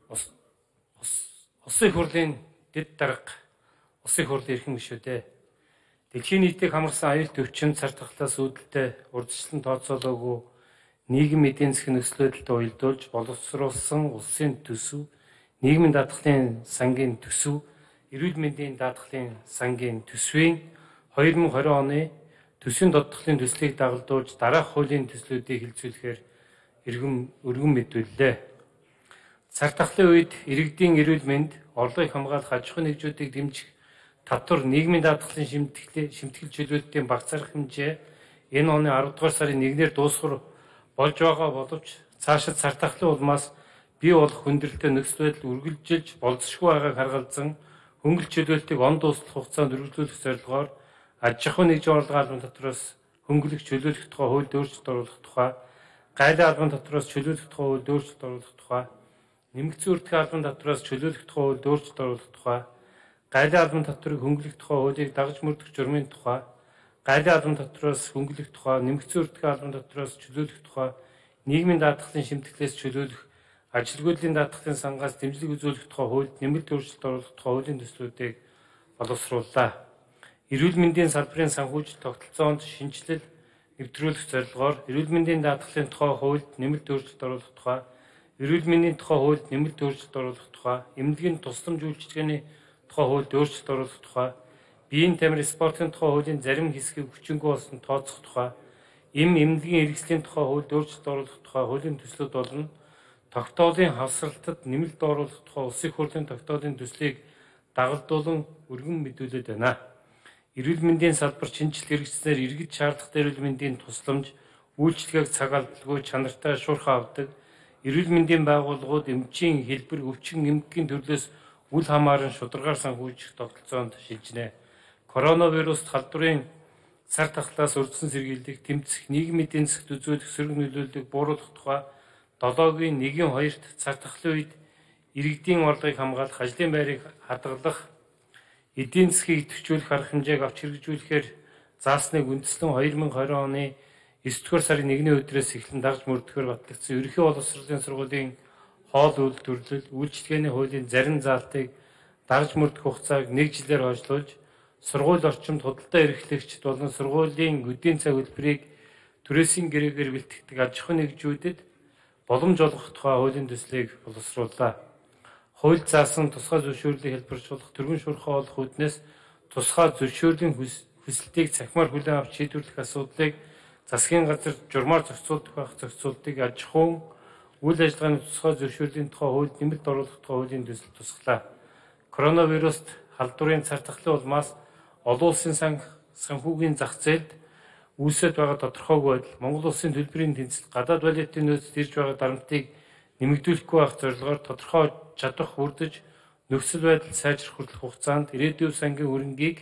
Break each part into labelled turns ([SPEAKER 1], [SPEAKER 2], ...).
[SPEAKER 1] Улсын хурлын дэд дарга улсын хурлын эрхэм гишүүдээ дэлхийн нийтийг хамарсан аюулт өвчин цар тахлаас үүдэлтэй урьдчилан тооцоолоогүй нийгэм эдийн засгийн нөхцөл байдалтай уялдуулж боловсруулсан улсын төсөв, нийгмийн даатгалын сангийн төсөв, эрүүл мэндийн даатгалын сангийн төсвийн 2020 оны төсвийн додтголын төслийг дагалдуулж дараах хуулийн төслүүдийг хэлцүүлэхээр өргөн мэдүүллээ. Цар тахлын үед иргэдийн эрүүл мэнд, орлогыг хамгаалах аж ахуйн нэгжүүдийг дэмжих татвар нийгмийн даатгалын шимтгэл чөлөөтийн багц арга хэмжээ энэ оны 10 дугаар сарын 1-ээр дуусгар болж байгаа боловч цаашид цар тахлын улмаас бий болох хүндрэлтэй нөхцөл байдал үргэлжилж болзошгүй байгааг харгалзан хөнгөлөлт чөлөөлтийг он дуслах хугацаанд үргэлжлүүлэх зорилгоор аж ахуйн нэгжийн орлогын албан татвараас хөнгөлөх чөлөөлөх тухай хуульд өөрчлөлт оруулах тухай, гайлын албан татвараас чөлөөлөх тухай хуульд өөрчлөлт оруулах тухай, нэмэгдсэн үрдэхүйн албан татвараас чөлөөлөх тухай хуульд өөрчлөлт оруулах тухай, гайлын албан татварыг хөнгөлөх тухай хуулийг дагаж мөрдөх журмын тухай, гайлын албан татвараас хөнгөлөх тухай, нэмэгдсэн үрдэхүйн албан татвараас чөлөөлөх тухай, нийгмийн даатгалын шимтгэлээс чөлөөлөх, ажилгүйдлийн даатгалын сангаас дэмжлэг үзүүлэх тухай хуульд нэмэлт өөрчлөлт оруулах тухай хуулийн төслүүдийг боловсрууллаа. Эрүүл мэндийн салбарын санхүүжилт тогтолцоонд шинжилэл нэвтрүүлэх зорилгоор эрүүл мэндийн даатгалын тухай хуульд нэмэлт өөрчлөлт оруулах тухай, эрүүл мэндийн тухай хуульд нэмэлт өөрчлөлт оруулах тухай, эмнэлгийн тусламж үйлчилгээний тухай хуульд өөрчлөлт оруулах тухай, биеийн тамир спортын тухай хуулийн зарим хэсгийг хүчингүй болсон тооцох тухай, эмнэлгийн эргэслийн тухай хуульд өөрчлөлт оруулах тухай хуулийн төслүүд болно. Тогтоолын хавсралтад нэмэлт оруулах тухай улсын хурлын тогтоолын төслийг дагалдуулан өргөн мэдүүлээд байна. Эрүүл мэндийн салбар шинжилт хэрэгжснээр иргэд шаардлагатай эрүүл мэндийн тусламж, үйлчилгээг цаг алдалгүй чанартай шуурхай авдаг, эрүүл мэндийн байгууллагууд эмчийн хэлбэр, өвчин эмгэгийн төрлөөс үл хамааран шударгаар санхүүжих тогтолцоонд шилжинэ. Коронавируст халдварын цар тахлаас урьдчилан сэргийлэх, тэмцэх, нийгмийн эдийн засагт үзүүлэх сөрөг нөлөөллийг бууруулах тухай 7-гийн 1-2-т цар тахлын үед иргэдийн орлогыг хамгаалах, ажлын байрыг хадгалах, эдийн засгийг идэвхжүүлэх арга хэмжээг авч хэрэгжүүлэхээр заасныг үндэслэн 2020 оны 9-р сарын 1-ний өдрөөс эхлэн дагж мөрдөхөөр батлагдсан ерөнхий боловсролын сургуулийн хоол үйлдвэрлэл, үйлчилгээний хуулийн зарим заалтыг дагж мөрдөх хугацааг 1 жилээр хойшлуулж, сургууль орчимд худалдаа эрхлэгчид болон сургуулийн өдийн цаг хөтөлбөрийг түрээсийн гэрээгээр бэлтгэдэг аж ахуйн нэгжүүдэд боломж олгох тухай хуулийн төслийг боловсрууллаа. Хууль заасан тусгай зөвшөөрлийг хэлбэржүүлэх, түргэн шуурхай олох үүднээс тусгай зөвшөөрлийн хүсэлтийг цахимаар хүлээн авч шийдвэрлэх асуудлыг засгийн газар журмаар зохицуулдаг байх зохицуултыг аж ахуйн үйл ажиллагааны тусгай зөвшөөрлийн тухай хуульд нэмэлт оруулах тухай хуулийн төсөл тусглаа. Коронавируст халдварын цар тахлын улмаас олон улсын санхүүгийн зах зээлд үүсэж байгаа тодорхойгүй байдал, Монгол улсын төлбөрийн тэнцэл, гадаад валютын нөөцөд ирж байгаа дарамтыг нэмэгдүүлэхгүй байх зорилгоор тодорхой чадвар хүрдэж нөхцөл байдал сайжрах хүртэлх хугацаанд ирээдүйн сангийн хөрөнгийг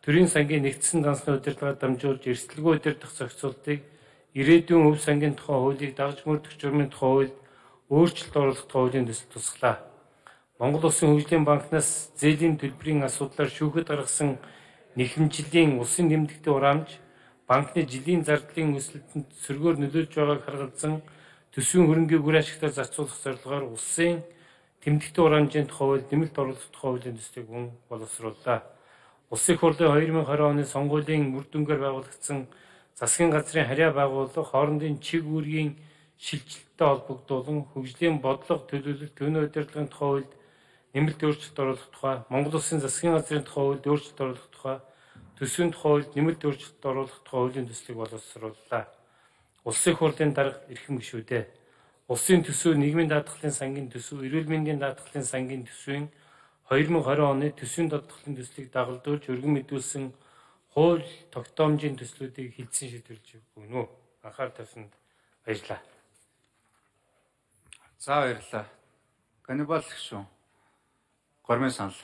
[SPEAKER 1] төрийн сангийн нэгдсэн дансны удирдлагаар дамжуулж эрсдэлгүй удирдах зохицуултыг ирээдүйн өв сангийн тухай хуулийг дагаж мөрдөх журмын тухай хуульд өөрчлөлт оруулах тухай хуулийн төсөл тусглаа. Монгол Улсын хөгжлийн банкнаас зээлийн төлбөрийн асуудлаар шүүхэд гаргасан нэхэмжлийн улсын тэмдэгтийн хураамж банкны жилийн зардлын өсөлтөнд сөргөөр нөлөөлж байгааг харгалзан төсвийн хөрөнгийг үр ашигтаар зарцуулах зорилгоор улсын тэмдэгтийн хураамжийн тухай хуульд нэмэлт оруулах тухай хуулийн төслийг боловсрууллаа. Улсын хурлын 2020 оны сонгуулийн үр дүнгээр байгуулагдсан засгийн газрын харьяа байгууллага хоорондын чиг үүргийн шилжилттэй холбогдуулан хөгжлийн бодлого төлөвлөлт төвийн удирдлагын тухай хуульд нэмэлт өөрчлөлт оруулах тухай, Монгол Улсын засгийн газрын тухай хуульд өөрчлөлт оруулах тухай, төсвийн тухай хуульд нэмэлт өөрчлөлт оруулах тухай хуулийн төслийг боловсрууллаа. Улсын хурлын дарга эрхэм гишүүдээ улсын төсөв, нийгмийн даатгалын сангийн төсөв, эрүүл мэндийн даатгалын сангийн төсвийн 2020 оны төсвийн додтголын төслийг дагалдуулж өргөн мэдүүлсэн хууль тогтоомжийн төслүүдийг хэлтсэн шийдвэрлэж өгнө үү. Анхаарал тавьсанд баярлалаа.
[SPEAKER 2] За баярлалаа. Ганнибал гишүүн. Гормын санал.